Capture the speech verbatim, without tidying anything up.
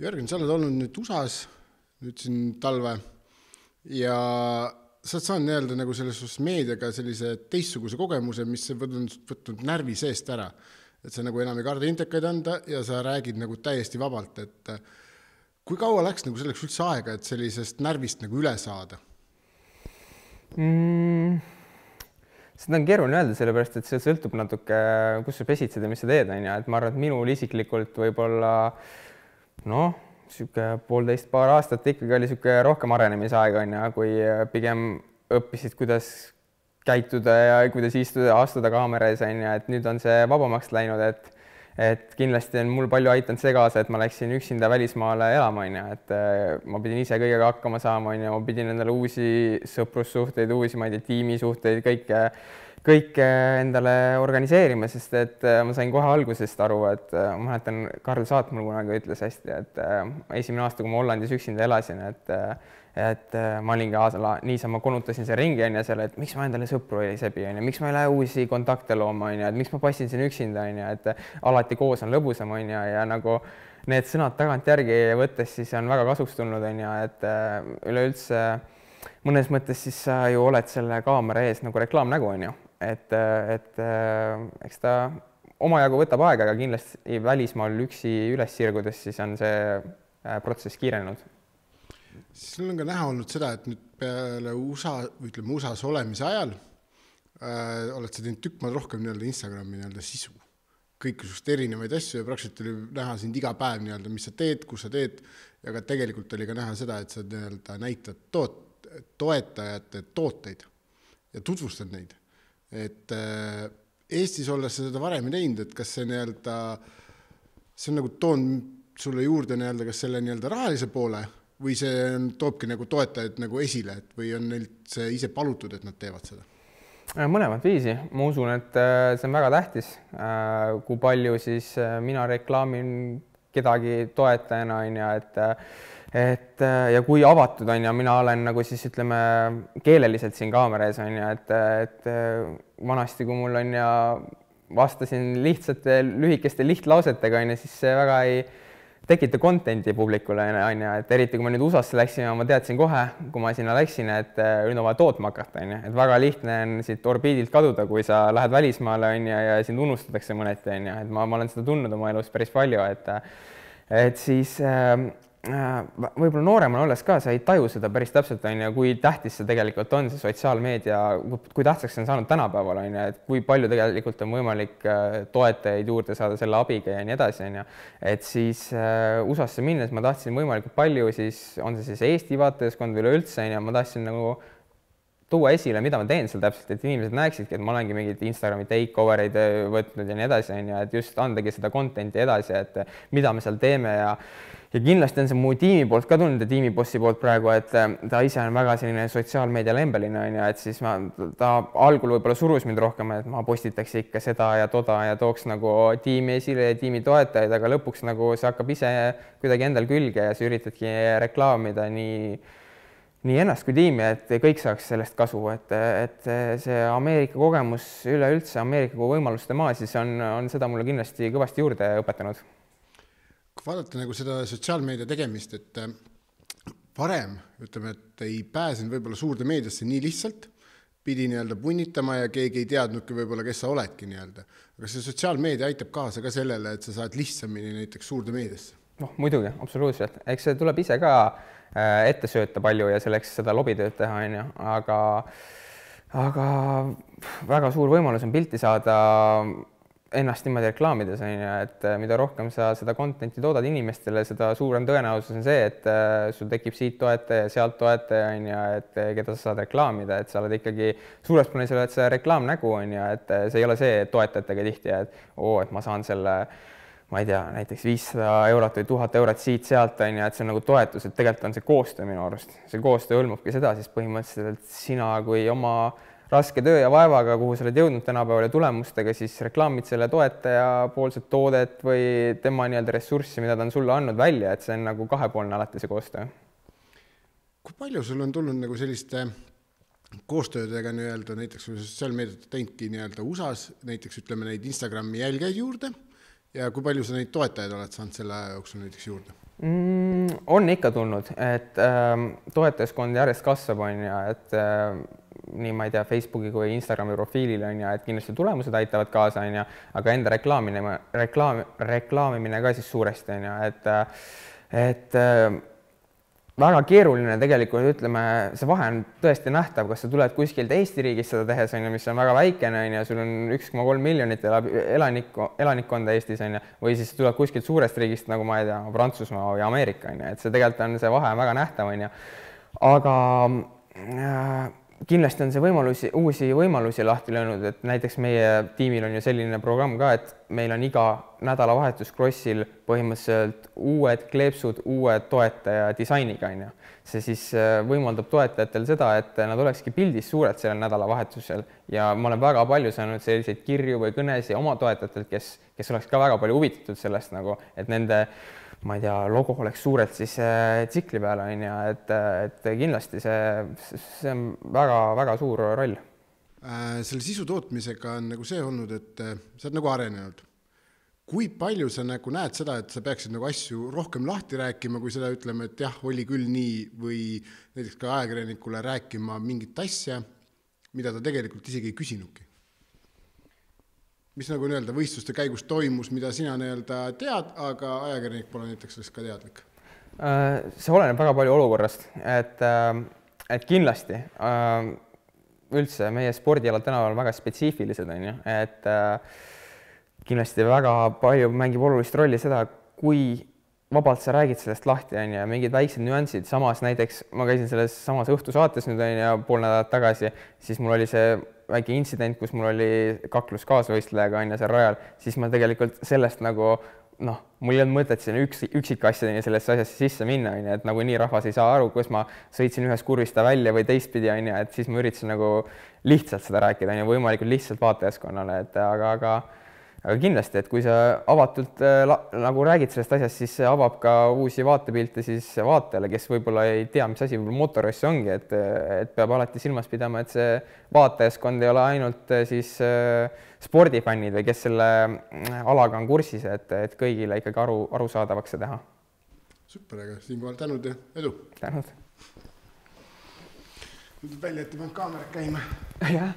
Jörgen, sa oled olnud nüüd U S A-s, nüüd siin talve ja sa oled saanud nii-öelda nagu selles suhtes meediaga sellise teistsuguse kogemuse, mis on võtnud, võtnud närvi seest ära. Et sa nagu enam ei karda intekaid anda ja sa räägid nagu täiesti vabalt, et kui kaua läks nagu selleks üldse aega, et sellisest närvist nagu üle saada? Mm, seda on keeruline öelda, sellepärast, et see sõltub natuke, kus sa pesitsed ja mis sa teed, on ja, et ma arvan, et minul isiklikult võib-olla noh, siuke poolteist paar aastat ikkagi oli siuke rohkem arenemisaeg, on ja, kui pigem õppisid, kuidas käituda ja kuidas istuda, astuda kaamera ees, on ja, et nüüd on see vabamaks läinud, et et kindlasti on mul palju aitanud see kaasa, et ma läksin üksinda välismaale elama, on ja, et ma pidin ise kõigega hakkama saama, on ja, ma pidin endale uusi sõprussuhteid, uusi, ma ei tea, tiimisuhteid, kõike, kõike endale organiseerima, sest et ma sain kohe algusest aru, et ma mäletan, Karl Saat mul kunagi ütles hästi, et esimene aasta, kui ma Hollandis üksinda elasin, et et ma olingi aasala, niisama konutasin see ringi, on ja selle, et miks ma endale sõpru ei sebi, on ja, miks ma ei lähe uusi kontakte looma, on ja, et miks ma passin siin üksinda, on ja, et alati koos on lõbusam, on ja, ja nagu need sõnad tagantjärgi võttes siis on väga kasuks tulnud, on ja, et üleüldse mõnes mõttes siis sa ju oled selle kaamera ees nagu reklaamnägu, on ju, et, et eks ta omajagu võtab aega, aga kindlasti välismaal üksi üles sirgudes siis on see protsess kiirenenud. Sul on ka näha olnud seda, et nüüd peale U S A, ütleme U S A-s olemise ajal äh, oled sa teinud tükk maad rohkem nii-öelda Instagrami nii-öelda sisu. Kõik just erinevaid asju ja praktiliselt oli näha sind iga päev nii-öelda, mis sa teed, kus sa teed ja ka tegelikult oli ka näha seda, et sa nii-öelda näitad toot, toetajate tooteid ja tutvustad neid. Et äh, Eestis olles seda varem ei teinud, et kas see nii-öelda see on nagu toon sulle juurde nii-öelda kas selle nii-öelda rahalise poole või see on, toobki nagu toetajad nagu esile, et või on neilt see ise palutud, et nad teevad seda? Mõlemat viisi. Ma usun, et see on väga tähtis, kui palju siis mina reklaamin kedagi toetajana, on ja, et, et ja kui avatud on ja mina olen nagu siis ütleme keeleliselt siin kaamera ees, on ja, et, et vanasti, kui mul on ja vastasin lihtsate lühikeste lihtlausetega, on ja, siis see väga ei tekita contenti publikule, on ja, et eriti kui ma nüüd U S A-sse läksin, ma teadsin kohe, kui ma sinna läksin, et nüüd on vaja tootma hakata, on ja, et väga lihtne on siit orbiidilt kaduda, kui sa lähed välismaale, on ja, ja sind unustatakse mõneti, on ja, et ma, ma olen seda tundnud oma elus päris palju, et, et siis äh, võib-olla nooremal olles ka sa ei taju seda päris täpselt, on ja, kui tähtis see tegelikult on, see sotsiaalmeedia, kui tähtsaks on saanud tänapäeval, on ja, et kui palju tegelikult on võimalik toetajaid juurde saada selle abiga ja nii edasi, on ja, et siis U S A-sse minnes ma tahtsin võimalikult palju, siis on see siis Eesti vaatajaskond või üleüldse, on ja, ma tahtsin nagu tuua esile, mida ma teen seal täpselt, et inimesed näeksidki, et ma olengi mingid Instagrami takeovereid võtnud ja nii edasi, on ja, et just andagi seda contenti edasi, et mida me seal teeme ja Ja kindlasti on see mu tiimi poolt ka tulnud ja tiimibossi poolt praegu, et ta ise on väga selline sotsiaalmeedia lembeline, on ja, et siis ma, ta algul võib-olla surus mind rohkem, et ma postitaks ikka seda ja toda ja tooks nagu tiimi esile ja tiimi toetajaid, aga lõpuks nagu see hakkab ise kuidagi endal külge ja sa üritadki reklaamida nii, nii ennast kui tiimi, et kõik saaks sellest kasu, et, et see Ameerika kogemus üleüldse, Ameerika kui võimaluste maa, siis on, on seda mulle kindlasti kõvasti juurde õpetanud. Kui vaadata nagu seda sotsiaalmeedia tegemist, et varem, ütleme, et ei pääsenud võib-olla suurde meediasse nii lihtsalt, pidi nii-öelda punnitama ja keegi ei teadnudki võib-olla, kes sa oledki nii-öelda. Aga see sotsiaalmeedia aitab kaasa ka sellele, et sa saad lihtsamini näiteks suurde meediasse? Noh, muidugi, absoluutselt. Eks see tuleb ise ka ette sööta palju ja selleks seda lobitööd teha, on ju. Aga, aga väga suur võimalus on pilti saada ennast niimoodi reklaamides, on ja, et mida rohkem sa seda contenti toodad inimestele, seda suurem tõenäosus on see, et sul tekib siit toetaja, sealt toetaja, on ja, et keda sa saad reklaamida, et sa oled ikkagi suures plaanis oled see reklaamnägu, on ja, et see ei ole see toetajatega tihti, et oo, et ma saan selle, ma ei tea, näiteks viissada eurot või tuhat eurot siit sealt, on ja, et see on nagu toetus, et tegelikult on see koostöö minu arust. See koostöö hõlmubki seda, siis põhimõtteliselt sina kui oma raske töö ja vaevaga, kuhu sa oled jõudnud tänapäeval ja tulemustega, siis reklaamid selle toetaja poolset toodet või tema nii-öelda ressurssi, mida ta on sulle andnud välja, et see on nagu kahepoolne alati see koostöö. Kui palju sul on tulnud nagu selliste koostöödega nii-öelda näiteks sotsiaalmeediat teinudki nii-öelda U S A-s, näiteks ütleme neid Instagrami jälgeid juurde ja kui palju sa neid toetajaid oled saanud selle aja jooksul näiteks juurde? mm,? On ikka tulnud, et äh, toetajaskond järjest kasvab, on ju, et äh, nii ma ei tea, Facebooki kui Instagrami profiilil on ju, et kindlasti tulemused aitavad kaasa, on ju, aga enda reklaamimine, reklaam, reklaamimine ka siis suuresti, on ju, et, et äh, väga keeruline tegelikult, ütleme, see vahe on tõesti nähtav, kas sa tuled kuskilt Eesti riigist seda tehes, on ju, mis on väga väikene, on ju, sul on üks koma kolm miljonit elanikku, elanikkonda Eestis, on ju, või siis tuleb kuskilt suurest riigist, nagu ma ei tea, Prantsusmaa või Ameerika, on ju, et see tegelikult on, see vahe on väga nähtav, on ju, aga äh, kindlasti on see võimalusi, uusi võimalusi lahti löönud, et näiteks meie tiimil on ju selline programm ka, et meil on iga nädalavahetus Krossil põhimõtteliselt uued kleepsud, uued toetaja disainiga, on ju. See siis võimaldab toetajatel seda, et nad olekski pildis suured sellel nädalavahetusel ja ma olen väga palju saanud selliseid kirju või kõnesi oma toetajatelt, kes, kes oleks ka väga palju huvitatud sellest nagu, et nende ma ei tea, logo oleks suurelt siis tsikli peale, on ju, et, et kindlasti see, see on väga, väga suur roll. Selle sisu tootmisega on nagu see olnud, et sa oled nagu arenenud. Kui palju sa nagu näed seda, et sa peaksid nagu asju rohkem lahti rääkima, kui seda ütleme, et jah, oli küll nii või näiteks ka ajakirjanikule rääkima mingit asja, mida ta tegelikult isegi ei küsinudki? Mis nagu nii-öelda võistluste käigus toimus, mida sina nii-öelda tead, aga ajakirjanik pole näiteks sellest ka teadlik? See oleneb väga palju olukorrast, et, et kindlasti üldse meie spordialad tänapäeval väga spetsiifilised on ju, et kindlasti väga palju mängib olulist rolli seda, kui vabalt sa räägid sellest lahti on ju, mingid väiksed nüansid, samas näiteks ma käisin selles samas õhtusaates nüüd on ju pool nädalat tagasi, siis mul oli see väike intsident, kus mul oli kaklus kaasvõistlejaga on ja seal rajal, siis ma tegelikult sellest nagu, noh, mul ei olnud mõtet siin üks, üksikasjadeni sellest asjasse sisse minna, on ju, et nagu nii rahvas ei saa aru, kus ma sõitsin ühes kurvista välja või teistpidi, on ju, et siis ma üritasin nagu lihtsalt seda rääkida, on ju, võimalikult lihtsalt vaatajaskonnale, et aga, aga aga kindlasti, et kui sa avatult la, nagu räägid sellest asjast, siis see avab ka uusi vaatepilte siis vaatajale, kes võib-olla ei tea, mis asi võib-olla motorassi ongi, et, et peab alati silmas pidama, et see vaatajaskond ei ole ainult siis spordifännid või kes selle alaga on kursis, et, et kõigile ikkagi aru, arusaadavaks see teha. Super, aga siinkohal tänud ja edu. Tänud. Nüüd välja, et ei peanud kaamerat käima. Jah.